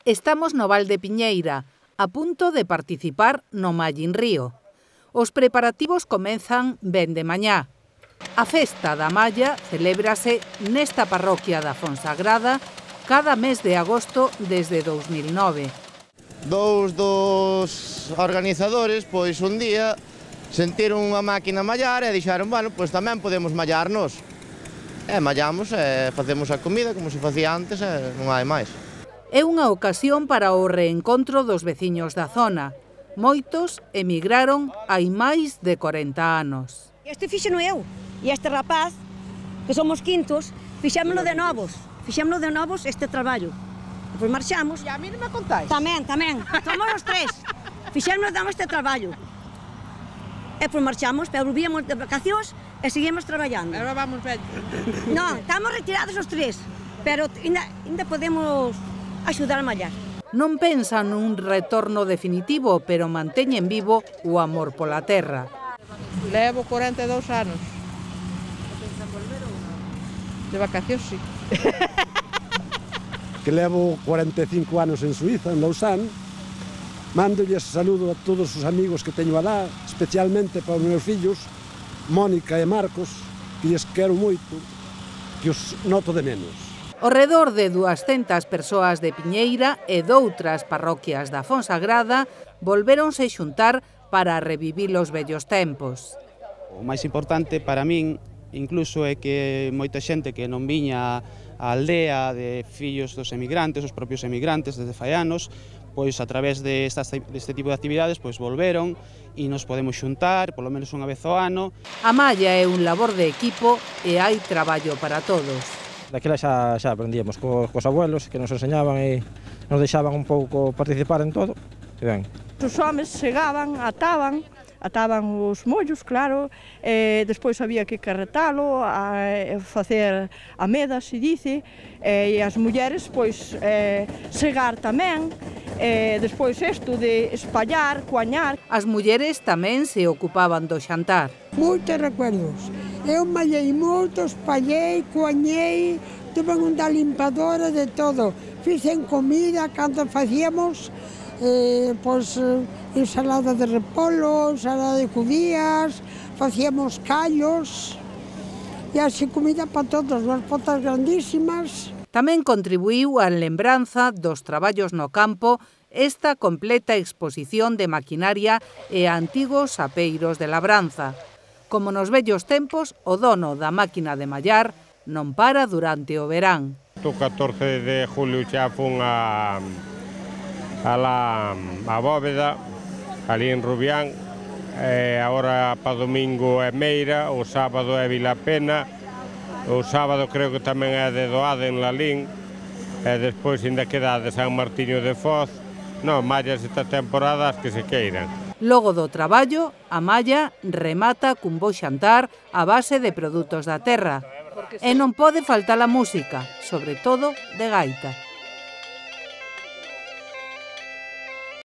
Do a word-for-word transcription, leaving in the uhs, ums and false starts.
Estamos no Val de Piñeira, a punto de participar no Mallín Río. Os preparativos comenzan ben de mañá. A festa da malla celébrase nesta parroquia da Fonsagrada cada mes de agosto desde dous mil nove. Dous dos organizadores, pois un día, sentiron unha máquina mallar e dixeron, bueno, pois tamén podemos mallarnos. E mallamos e facemos a comida como se facía antes e non hai máis. É unha ocasión para o reencontro dos veciños da zona. Moitos emigraron hai máis de corenta anos. Este fixeno eu, e este rapaz, que somos quintos, fixémoslo de novos. Fixémoslo de novos este traballo. Depois marchamos. E a mí non me contáis? Tamén, tamén. Somos os tres. Fixémoslo de novos este traballo. E depois marchamos, pero volvíamos de vacacións e seguimos traballando. Agora vamos ben. Non, estamos retirados os tres, pero ainda, ainda podemos axudar a mallar. Non pensan nun retorno definitivo, pero manteñen vivo o amor pola terra. Levo corenta e dous anos. De vacacións, sí. Que levo cuarenta e cinco anos en Suiza, en Lausanne. Mándolles saludo a todos os amigos que teño alá, especialmente para os meus fillos, Mónica e Marcos, que lles quero moito, que os noto de menos. Ao redor de duascentas persoas de Piñeira e doutras parroquias da Fonsagrada volvéronse xuntar para revivir os vellos tempos. O máis importante para min, incluso, é que moita xente que non viña á aldea de fillos dos emigrantes, os propios emigrantes desde fai anos, pois a través de estas, deste tipo de actividades pois volveron e nos podemos xuntar, polo menos unha vez ao ano. A malla é un labor de equipo e hai traballo para todos. Daquela xa, xa aprendíamos cos, cos abuelos que nos enseñaban e nos deixaban un pouco participar en todo. E ben. Os homes chegaban, ataban, ataban os mollos, claro, e despois había que carretalo, a facer a meda, se dice, e as mulleres, pois, eh, segar tamén, e despois isto de espallar, coañar. As mulleres tamén se ocupaban do xantar. Moitos recuerdos. Eu mallei moito, espallei, coañei, tuve unha limpadora de todo. Fixen comida cando facíamos eh, pois, ensalada de repolo, ensalada de judías, facíamos callos e así comida para todos, as potas grandísimas. Tamén contribuíu á lembranza dos traballos no campo esta completa exposición de maquinaria e antigos apeiros de labranza. Como nos vellos tempos, o dono da máquina de mallar non para durante o verán. O catorce de julio xa fun a, a la a Bóveda, ali en Rubián, e agora para domingo é Meira, o sábado é Vilapena, o sábado creo que tamén é de Doada en Lalín, e despois ainda queda de San Martiño de Foz. Non, mallas esta temporada as que se queiran. Logo do traballo, a malla remata cun bo xantar a base de produtos da terra. E non pode faltar a música, sobre todo de gaita.